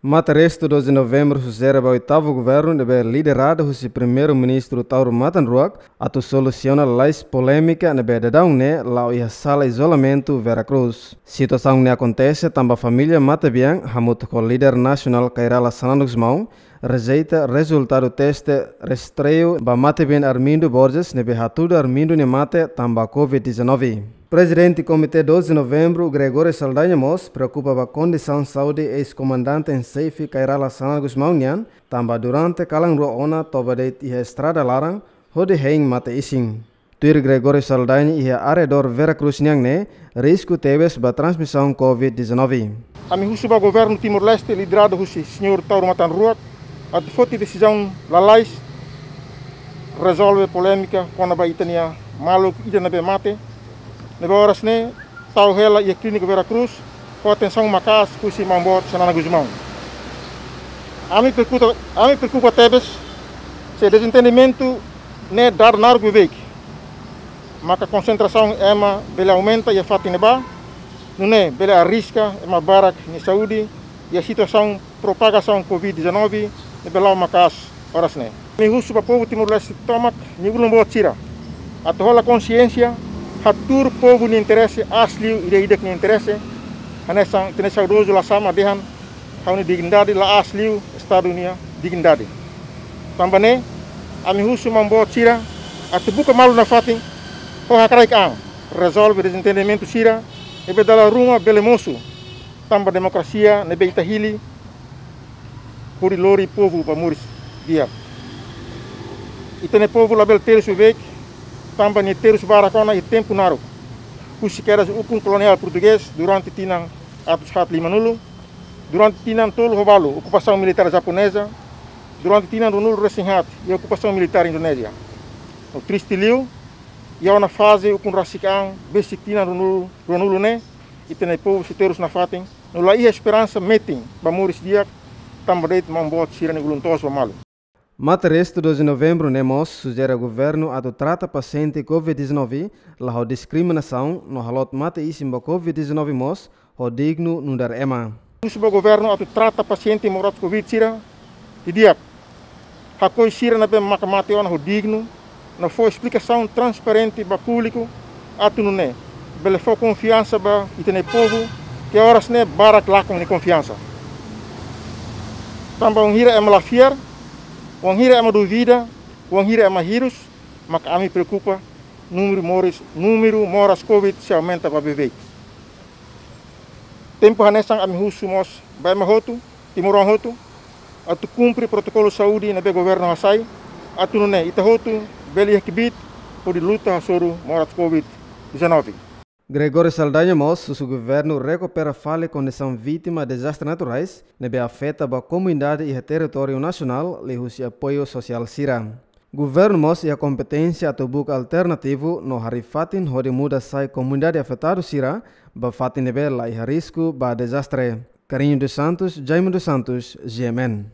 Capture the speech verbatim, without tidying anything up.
Mate restu doze Novembru sujere ba oitavu governu ne'ebé lideradu husi Primeiru-Ministru Taur Matan Ruak atu solusiona lalais polémika ne'ebé daudaun ne'e la'o iha sala izolamentu Vera Cruz. Situasaun ne'e akontese tanba família matebian hamutuk ho líder nasionál Kay Rala Xanana Gusmão rejeita rezultadu teste rastreiu ba matebian Armindo Borges ne'ebé hatudu Armindo nia mate tanba covid dezanove. Prezidente Komité doze Novembru, Gregório Saldanha mós preokupa ba kondisaun saúde eis-komandante-en-xefe Kay Rala Xanana Gusmão nian, tanba durante kalan rua ona toba de'it iha estrada laran, hodi hein mate-isin. Tuir Gregório Saldanha, iha arredór Vera Cruz nian ne'e risku tebes ba transmisaun covid dezanove. Ami husu ba governu Timor-Leste lideradu husi señór Taur Matan Ruak atu foti desizaun lalais rezolve polémika kona-ba ita-nia maluk ida ne'ebé mate, ne'ebé oras ne'e tau hela iha Klínika Vera Cruz ho atensaun maka'as husi Maun Boot Xanana Gusmão. Ami preokupa, ami preokupa tebes se dezentendimentu ne'e dada naruk beibeik, maka konsentrasaun ema bele aumenta iha fatin ne'ebá, nune'e bele arriska ema barak nia saúde iha situasaun propagasaun covid dezanove ne'ebé la'o maka'as oras ne'e. Ami husu ba povu Timor-Leste tomak nia ulun boot sira atu hola konsiénsia, hatuur povu nia interese aas liu, ida-idak nia interese, hanesan ita-nia saudozu Lasama dehan, ha'u-nia dignidade la aas liu Estadu nia dignidade. Tanba ne'e, ami husu Maun Boot sira atu buka malu nafatin ho hakraik an rezolve dezentendimentu sira ne'ebé dala ruma bele mosu, tanba demokrasia ne'ebé ita hili hodi lori povu ba moris di'ak. Ita-nia povu labele terus beibeik, tanba nia terus barak ona iha tempu naruk, husi kedas ukun koloniál portugés durante tinan atus haat limanulu, durante tinan tolu ho balu okupasaun militár japoneza, durante tinan ruanulu-resin-haat iha okupasaun militár Indonézia. No triste liu, iha ona faze ukun rasik an besik tinan ruanulu, ruanulu ne'e, ita-nia povu sei terus nafatin no la iha esperansa metin ba moris di'ak, tanba de'it Maun Boot sira-nia ulun-toos ba malu. Mate restu doze Novembru ne'e mós sujere governu atu trata pasiente covid dezanove la ho diskriminasaun no halot mate-isin ba covid dezanove mós ho dignu nu'udar ema. Husu ba governu atu trata pasiente moras covid sira didi'ak, hakoi sira ne'ebé maka mate ona ho dignu, no fó esplikasaun transparente ba públiku, atu nune'e bele fó konfiansa ba ita-nia povu, ke oras ne'e barak lakon nia konfiansa. Tanba wainhira ema la fiar, wainhira ema duvida, wainhira ema hirus, maka ami preokupa, númeru moris, númeru moras covid sei aumenta ba beibeik. Tempu hanesan ami husu mós ba ema hotu, timoroan hotu, atu kumpre protokolu saúde ne'ebé governu hasai, atu nune'e ita hotu bele iha kbiit hodi luta hasoru moras covid dezanove. Gregório Saldanha mós husu governu rekupera fali kondisaun vítima dezastre naturais ne'ebé afeta ba komunidade iha territóriu nasionál liuhusi apoiu sosiál sira. Governu mós iha kompeténsia atu buka alternativu no harii fatin hodi muda sai komunidade afetadu sira ba fatin ne'ebé la iha risku ba dezastre. Carinho dos Santos, Jaime dos Santos, G M N.